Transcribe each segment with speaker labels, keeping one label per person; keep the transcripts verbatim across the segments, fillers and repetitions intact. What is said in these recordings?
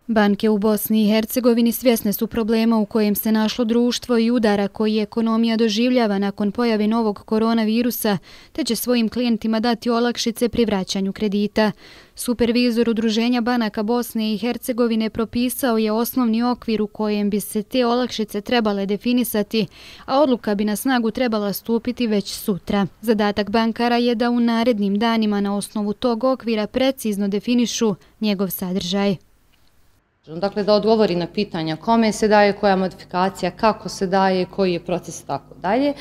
Speaker 1: Banke u Bosni i Hercegovini svjesne su problema u kojem se našlo društvo i udara koji ekonomija doživljava nakon pojave novog koronavirusa, te će svojim klijentima dati olakšice pri vraćanju kredita. Supervizor Udruženja banaka Bosne i Hercegovine propisao je osnovni okvir u kojem bi se te olakšice trebale definisati, a odluka bi na snagu trebala stupiti već sutra. Zadatak bankara je da u narednim danima na osnovu tog okvira precizno definišu njegov sadržaj.
Speaker 2: Dakle, da odgovori na pitanja kome se daje, koja modifikacija, kako se daje, koji je proces i tako dalje.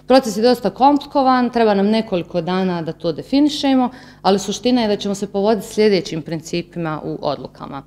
Speaker 2: Proces je dosta komplikovan, treba nam nekoliko dana da to definišemo, ali suština je da ćemo se povoditi sljedećim principima u odlukama.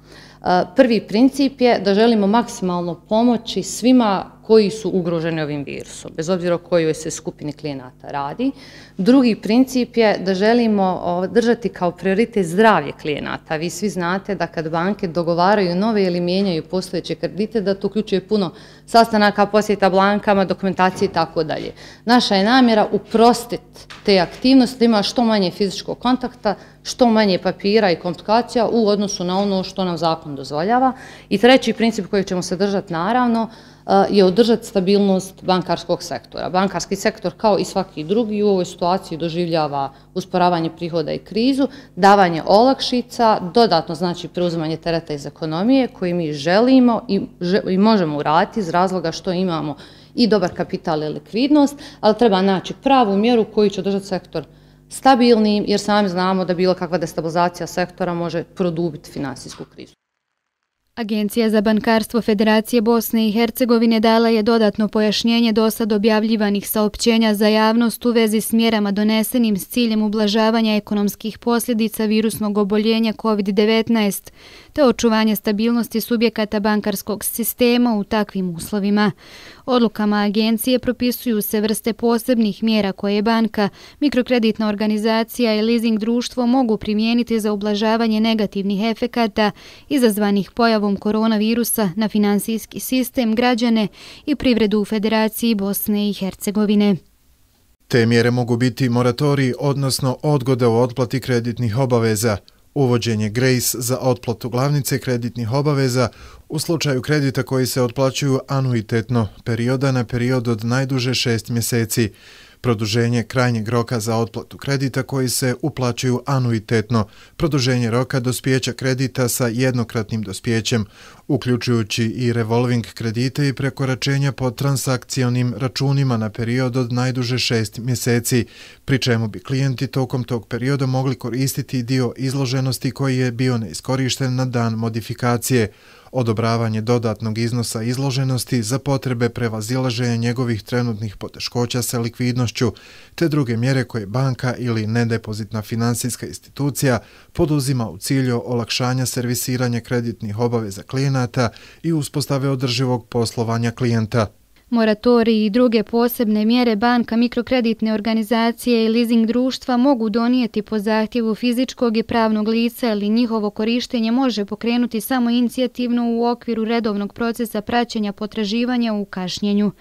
Speaker 2: Prvi princip je da želimo maksimalno pomoći svima koji su ugroženi ovim virusom, bez obzira o kojoj se skupini klijenata radi. Drugi princip je da želimo držati kao prioritet zdravlje klijenata. Vi svi znate da kad banke dogovaraju nove ili mijenjaju postojeće kredite, da to uključuje puno sastanaka, posjeta blankama, dokumentacije i tako dalje. Naša je namjera uprostiti te aktivnosti, da ima što manje fizičkog kontakta, što manje papira i komplikacija u odnosu na ono što nam zakon dozvoljava. I treći princip kojeg ćemo se držati naravno je održati stabilnost bankarskog sektora. Bankarski sektor kao i svaki drugi u ovoj situaciji doživljava usporavanje prihoda i krizu, davanje olakšica, dodatno znači preuzimanje tereta iz ekonomije koji mi želimo i, i možemo uraditi iz razloga što imamo i dobar kapital i likvidnost, ali treba naći pravu mjeru koju će održati sektor stabilnim, jer sami znamo da bilo kakva destabilizacija sektora može produbiti finansijsku krizu.
Speaker 1: Agencija za bankarstvo Federacije Bosne i Hercegovine dala je dodatno pojašnjenje dosad objavljivanih saopćenja za javnost u vezi s mjerama donesenim s ciljem ublažavanja ekonomskih posljedica virusnog oboljenja kovid devetnaest, te očuvanje stabilnosti subjekata bankarskog sistema u takvim uslovima. Odlukama agencije propisuju se vrste posebnih mjera koje banka, mikrokreditna organizacija i leasing društvo mogu primijeniti za ublažavanje negativnih efekata izazvanih pojavom koronavirusa na finansijski sistem, građane i privredu u Federaciji Bosne i Hercegovine.
Speaker 3: Te mjere mogu biti moratorij, odnosno odgoda u otplati kreditnih obaveza, uvođenje grace za otplatu glavnice kreditnih obaveza u slučaju kredita koji se otplaćuju anuitetno, perioda na period od najduže šest mjeseci, produženje krajnjeg roka za otplatu kredita koji se uplaćuju anuitetno, produženje roka dospijeća kredita sa jednokratnim dospijećem, uključujući i revolving kredite i prekoračenja po transakcionim računima na period od najduže šest mjeseci, pri čemu bi klijenti tokom tog perioda mogli koristiti dio izloženosti koji je bio neiskorišten na dan modifikacije, odobravanje dodatnog iznosa izloženosti za potrebe prevazilaženja njegovih trenutnih poteškoća sa likvidnošću, te druge mjere koje banka ili nedepozitna finansijska institucija poduzima u cilju olakšanja servisiranja kreditnih obaveza klijenata i uspostave održivog poslovanja klijenta.
Speaker 1: Moratorij i druge posebne mjere banka, mikrokreditne organizacije i leasing društva mogu donijeti po zahtjevu fizičkog i pravnog lica ili njihovo korištenje može pokrenuti samo inicijativno u okviru redovnog procesa praćenja potraživanja u kašnjenju.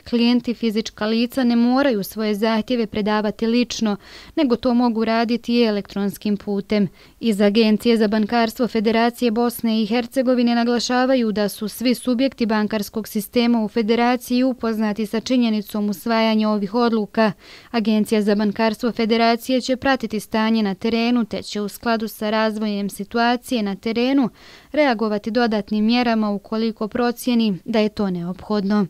Speaker 1: Klijenti fizička lica ne moraju svoje zahtjeve predavati lično, nego to mogu raditi i elektronskim putem. Iz Agencije za bankarstvo Federacije Bosne i Hercegovine naglašavaju da su svi subjekti bankarskog sistema u Federaciji upoznati sa činjenicom usvajanja ovih odluka. Agencija za bankarstvo Federacije će pratiti stanje na terenu te će u skladu sa razvojem situacije na terenu reagovati dodatnim mjerama ukoliko procijeni da je to neophodno.